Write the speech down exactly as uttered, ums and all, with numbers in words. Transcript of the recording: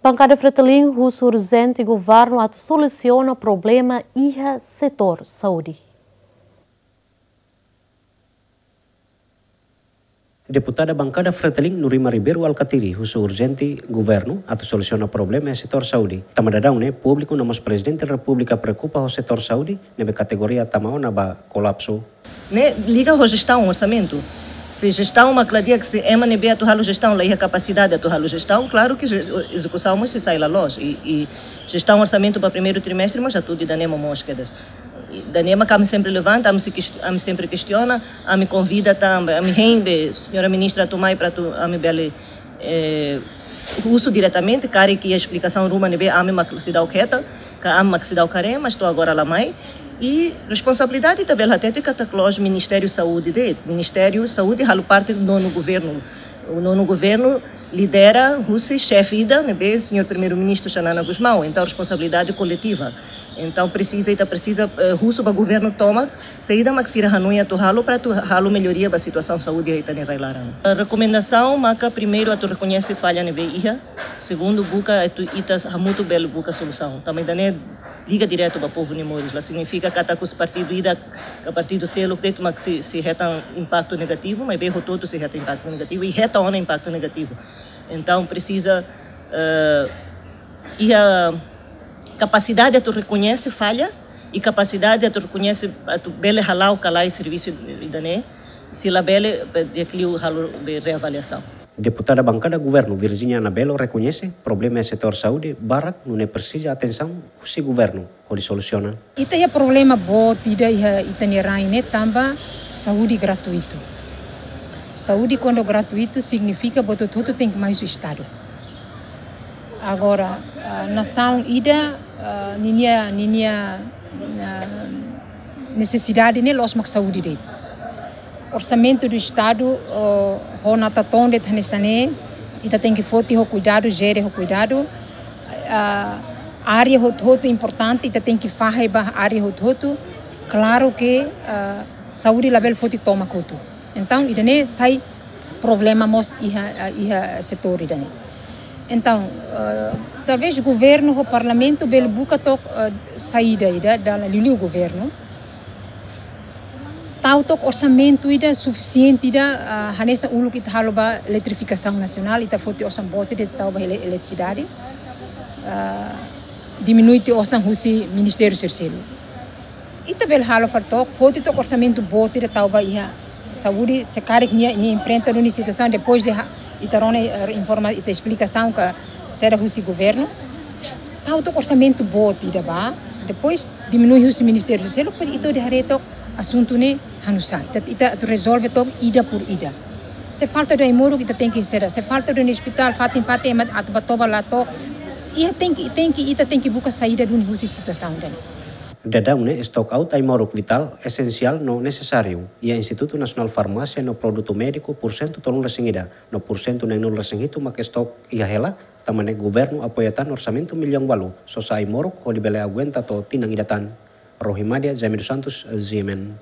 Bankada Fretilin husu urjente governu atu solusiona problema iha setór saúde. Deputada Bankada Fretilin Nurima Ribeiro Alkatiri husu urjente governu atu solusiona problema iha setór saúde. Tanba daudaun ne'e públiku no mós Prezidente Repúblika preokupa ho setór saúde ne'ebé kategoria tama ona ba kolapsu. Ne'e liga ho jestaun, orsamentu. Se jestaun mak la di'ak, se ema ne'ebé atu halo jestaun la iha kapasidade atu halo jestaun, klaru ke je-, ezekusaun mós sei sai la loos. I, i jestaun, orsamentu ba primeiru trimestre mós atu di danema mós kedas. I danema ke ami sempre levanta, ami sei kest-, ami sempre kestiona, ami konvida tanba, ami hein be señora ministra atu mai para atu ami bele eh, husu diretamente, karik iha esplikasaun ruma ne'ebé ami mak seidauk hetan, ka ami mak seidauk haree, mas to'o agora la mai. I responsabilidade ita bele hatete katak la'ós Ministériu Saúde de'it. Ministériu Saúde halo parte do nono governu. O nono governu lidera husi xefe ida ne'ebé señór Primeiru-Ministru Xanana Gusmão. Entaun responsabilidade koletiva. Entaun presiza, ita presiza, eh, husu ba governu tomak saida mak sira hanoin atu halo para atu halo melloria ba situasaun saúde iha ita-nia rai-laran. Rekomendasaun maka primeiru atu rekoñese falla ne'ebé iha, segundu buka atu ita hamutuk bele buka solusaun. Tanba ida-ne'e liga diretu ba povu nia moris. La signifika katak husi partidu ida ka partidu seluk de'it mak sei, sei hetan impaktu negativu, maibé hotu-hotu sei hetan impaktu negativu, i hetan ona impaktu negativu. Entaun presiza, eh, iha kapasidade atu rekoñese falla i kapasidade atu rekoñese atu bele hala'o ka lae servisu ida-ne'e, se labele, eh, di'ak liu halo be reavaliasaun. Deputada Bankada Governu Virginia Anabelo rekoñese problema iha setór saúde barak nune'e presiza atensaun husi governu hodi solusiona. Ita iha problema boot ida iha ita-nia rain ne'e tanba saúde gratuitu. Saúde kuandu gratuitu signifika buat hotu-hotu tenke mai husi Estadu. Agora, ah, nasaun ida, ah, ninia, ninia, ah, nesesidade ne'e la'ós mak saúde de'it. Orsamentu do Estadu, oh, ho nota to'o de'it hanesan ne'e, ita tenke foti ho kuidadu, jere ho kuidadu. Ah, área hotu-hotu importante, ita tenke fahe ba área hotu-hotu. Klaru ke, ah, saúde labele foti tomak hotu. Entaun, ida-ne'e sai problema mós iha, iha setór ida-ne'e. Entaun, ah, talvés governu ho parlamentu bele buka took, ah, saída ida dala liuliu governu. Tau took orsamentu ida sufisiente ida, ah, hanesan uluk ita halo ba eletrifikasaun nasionál, ita foti osan boot ida tau ba ele-, eletrisidade. Ah, diminui tiha osan husi ministériu sira seluk. Ita bele halo fali took, foti took orsamentu boot ida tau ba iha saúde, se karik nia, nia enfrenta duni situasaun depois de ha-, ita rona, eh, informa, ita esplikasaun ka saida husi governu. Tau took orsamentu boot ida ba, depois diminui husi ministériu sira seluk, depois ita hodi haree took asuntu ne'e hanusá. Ita, ita atu rezolve took ida por ida. Se falta duni ai-moruk ita tenke sera, se falta duni ospitál, fatin-fatin ema atu ba toba la took. Iha tenke, tenke, ita tenke buka saída duni husi situasaun ida-ne'e. Daudaun ne'e stock out ai-moruk vitál, esensiál no nesesáriu iha Institutu Nasionál Farmásia no Produtu Médiku pursentu tolunulu-resin-ida, no pursentu neenulu-resin-hitu mak stock iha hela, tanba ne'e governu apoia tan orsamentu millaun ualu sosa ai-moruk hodi bele aguenta to'o tinan ida tan. Rohimadia Jaime dos Santos, G M N.